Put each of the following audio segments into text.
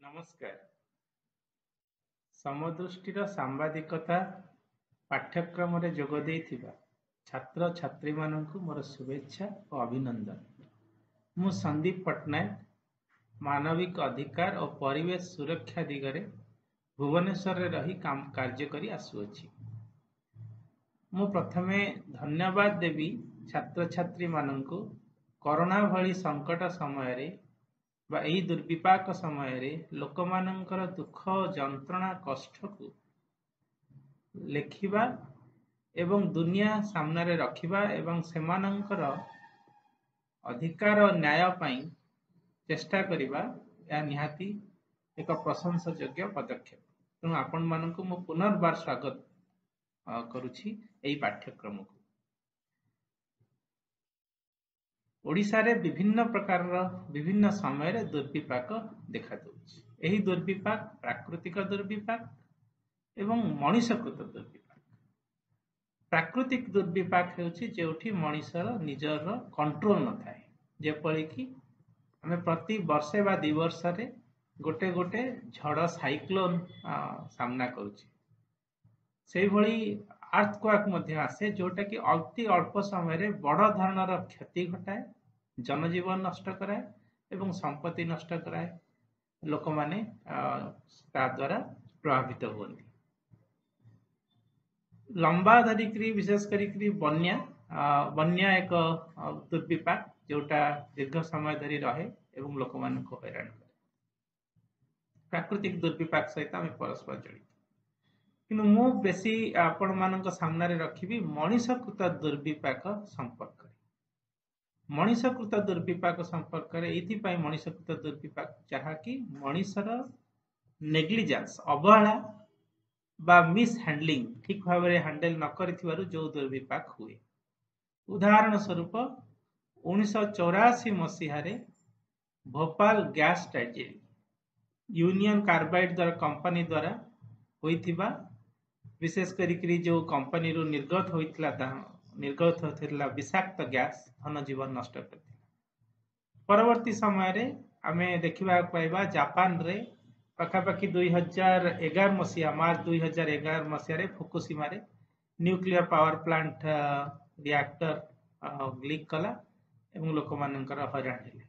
ନମସ୍କାର। ସମଦୃଷ୍ଟିର ସାମ୍ବାଦିକତା ପାଠ୍ୟକ୍ରମରେ ଯୋଗ ଦେଇଥିବା ଛାତ୍ରଛାତ୍ରୀମାନଙ୍କୁ ମୋର ଶୁଭେଚ୍ଛା ଓ ଅଭିନନ୍ଦନ। ମୁଁ ସନ୍ଦୀପ ପଟ୍ଟନାୟକ, ମାନବିକ ଅଧିକାର ଓ ପରିବେଶ ସୁରକ୍ଷା ଦିଗରେ ଭୁବନେଶ୍ୱରରେ ରହି କାର୍ଯ୍ୟ କରି ଆସୁଅଛି। ମୁଁ ପ୍ରଥମେ ଧନ୍ୟବାଦ ଦେବି ଛାତ୍ରଛାତ୍ରୀମାନଙ୍କୁ, କରୋନା ଭଳି ସଙ୍କଟ ସମୟରେ ବା ଏହି ଦୁର୍ବିପାକ ସମୟରେ ଲୋକମାନଙ୍କର ଦୁଃଖ, ଯନ୍ତ୍ରଣା, କଷ୍ଟକୁ ଲେଖିବା ଏବଂ ଦୁନିଆ ସାମ୍ନାରେ ରଖିବା ଏବଂ ସେମାନଙ୍କର ଅଧିକାର, ନ୍ୟାୟ ପାଇଁ ଚେଷ୍ଟା କରିବା, ଏହା ନିହାତି ଏକ ପ୍ରଶଂସାଯୋଗ୍ୟ ପଦକ୍ଷେପ। ତେଣୁ ଆପଣମାନଙ୍କୁ ମୁଁ ପୁନର୍ବାର ସ୍ୱାଗତ କରୁଛି ଏହି ପାଠ୍ୟକ୍ରମକୁ। ଓଡ଼ିଶାରେ ବିଭିନ୍ନ ପ୍ରକାରର ବିଭିନ୍ନ ସମୟରେ ଦୁର୍ବିପାକ ଦେଖାଦେଉଛି। ଏହି ଦୁର୍ବିପାକ ପ୍ରାକୃତିକ ଦୁର୍ବିପାକ ଏବଂ ମଣିଷକୃତ ଦୁର୍ବିପାକ। ପ୍ରାକୃତିକ ଦୁର୍ବିପାକ ହେଉଛି ଯେଉଁଠି ମଣିଷର ନିଜର କଣ୍ଟ୍ରୋଲ ନଥାଏ, ଯେପରିକି ଆମେ ପ୍ରତି ବର୍ଷେ ବା 2 ବର୍ଷରେ ଗୋଟେ ଗୋଟେ ଝଡ଼, ସାଇକ୍ଲୋନ ସାମ୍ନା କରୁଛେ। ସେଇଭଳି ଆର୍ଥକ୍ୱାକ୍ ମଧ୍ୟ ଆସେ, ଯୋଉଟାକି ଅତି ଅଳ୍ପ ସମୟରେ ବଡ଼ ଧରଣର କ୍ଷତି ଘଟାଏ, ଜନଜୀବନ ନଷ୍ଟ କରାଏ ଏବଂ ସମ୍ପତ୍ତି ନଷ୍ଟ କରାଏ। ଲୋକମାନେ ତା ଦ୍ୱାରା ପ୍ରଭାବିତ ହୁଅନ୍ତି। ଲମ୍ବା ଧରିକିରି ବିଶେଷ କରିକିରି ବନ୍ୟା, ବନ୍ୟା ଏକ ଦୁର୍ବିପାକ ଯୋଉଟା ଦୀର୍ଘ ସମୟ ଧରି ରହେ ଏବଂ ଲୋକମାନଙ୍କୁ ହଇରାଣ କରେ। ପ୍ରାକୃତିକ ଦୁର୍ବିପାକ ସହିତ ଆମେ ପରସ୍ପର ଜଡ଼ିତ। କିନ୍ତୁ ମୁଁ ବେଶୀ ଆପଣମାନଙ୍କ ସାମ୍ନାରେ ରଖିବି ମଣିଷକୃତ ଦୁର୍ବିପାକ ସମ୍ପର୍କରେ। ମଣିଷକୃତ ଦୁର୍ବିପାକ ସମ୍ପର୍କରେ ଏଇଥିପାଇଁ ମଣିଷକୃତ ଦୁର୍ବିପାକ, ଯାହାକି ମଣିଷର ନେଗ୍ଲିଜାନ୍ସ, ଅବହେଳା ବା ମିସ୍ ହ୍ୟାଣ୍ଡଲିଂ, ଠିକ ଭାବରେ ହ୍ୟାଣ୍ଡେଲ ନ କରିଥିବାରୁ ଯୋଉ ଦୁର୍ବିପାକ ହୁଏ। ଉଦାହରଣ ସ୍ୱରୂପ, 1984 ମସିହାରେ Bhopal gas tragedy, union carbide ଦ୍ୱାରା, କମ୍ପାନୀ ଦ୍ୱାରା ହୋଇଥିବା, ବିଶେଷ କରିକିରି ଯୋଉ କମ୍ପାନୀରୁ ନିର୍ଗତ ହୋଇଥିଲା ବିଷାକ୍ତ ଗ୍ୟାସ, ଧନ ଜୀବନ ନଷ୍ଟ କରିଥିଲା। ପରବର୍ତ୍ତୀ ସମୟରେ ଆମେ ଦେଖିବାକୁ ପାଇବା ଜାପାନରେ ପାଖାପାଖି 2011 ମସିହା, ମାର୍ଚ୍ଚ 2011 ମସିହାରେ ଫୁକୁସୀମାରେ nuclear power plant reactor leak କଲା ଏବଂ ଲୋକମାନଙ୍କର ହଇରାଣ ହେଲେ।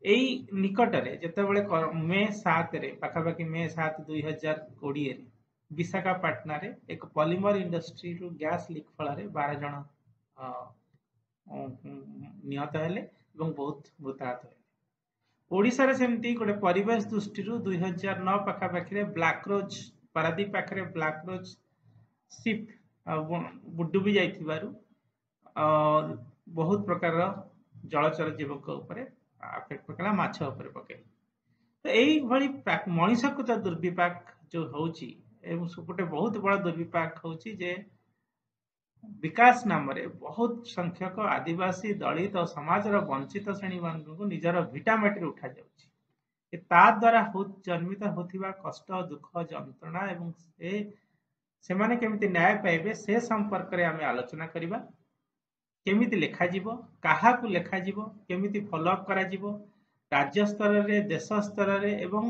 ଏଇ ନିକଟରେ ଯେତେବେଳେ ମେ 7ରେ, ପାଖାପାଖି ମେ 7 2020ରେ ବିଶାଖାପାଟଣାରେ ଏକ ପଲିମର ଇଣ୍ଡଷ୍ଟ୍ରିରୁ ଗ୍ୟାସ୍ ଲିକ୍ ଫଳରେ 12 ଜଣ ନିହତ ହେଲେ ଏବଂ ବହୁତ ମୃତାହତ ହେଲେ। ଓଡ଼ିଶାରେ ସେମିତି ଗୋଟେ ପରିବେଶ ଦୃଷ୍ଟିରୁ 2009 ପାଖାପାଖିରେ ବ୍ଲାକ୍ ରୋଜ୍, ପାରାଦୀପ ପାଖରେ ବ୍ଲାକ୍ ରୋଜ୍ ସିପ୍ ଡୁବି ଯାଇଥିବାରୁ ବହୁତ ପ୍ରକାରର ଜଳଚର ଜୀବଙ୍କ ଉପରେ ଆଫେକ୍ଟ ପକେଇଲା, ମାଛ ଉପରେ ପକେଇଲା। ତ ଏଇଭଳି ମଣିଷକୃତ ଦୁର୍ବିପାକ ଯୋଉ ହଉଛି ଏବଂ ଗୋଟେ ବହୁତ ବଡ ଦୁର୍ବିପାକ ହଉଛି ଯେ ବିକାଶ ନାମରେ ବହୁତ ସଂଖ୍ୟକ ଆଦିବାସୀ, ଦଳିତ ସମାଜର ବଞ୍ଚିତ ଶ୍ରେଣୀମାନଙ୍କୁ ନିଜର ଭିଟାମାଟିରୁ ଉଠାଯାଉଛି। ତା ଦ୍ୱାରା ଜନ୍ମିତ ହେଉଥିବା କଷ୍ଟ, ଦୁଃଖ, ଯନ୍ତ୍ରଣା ଏବଂ ସେ ସେମାନେ କେମିତି ନ୍ୟାୟ ପାଇବେ, ସେ ସମ୍ପର୍କରେ ଆମେ ଆଲୋଚନା କରିବା। କେମିତି ଲେଖାଯିବ, କାହାକୁ ଲେଖାଯିବ, କେମିତି ଫଲୋଅପ୍ କରାଯିବ ରାଜ୍ୟ ସ୍ତରରେ, ଦେଶ ସ୍ତରରେ ଏବଂ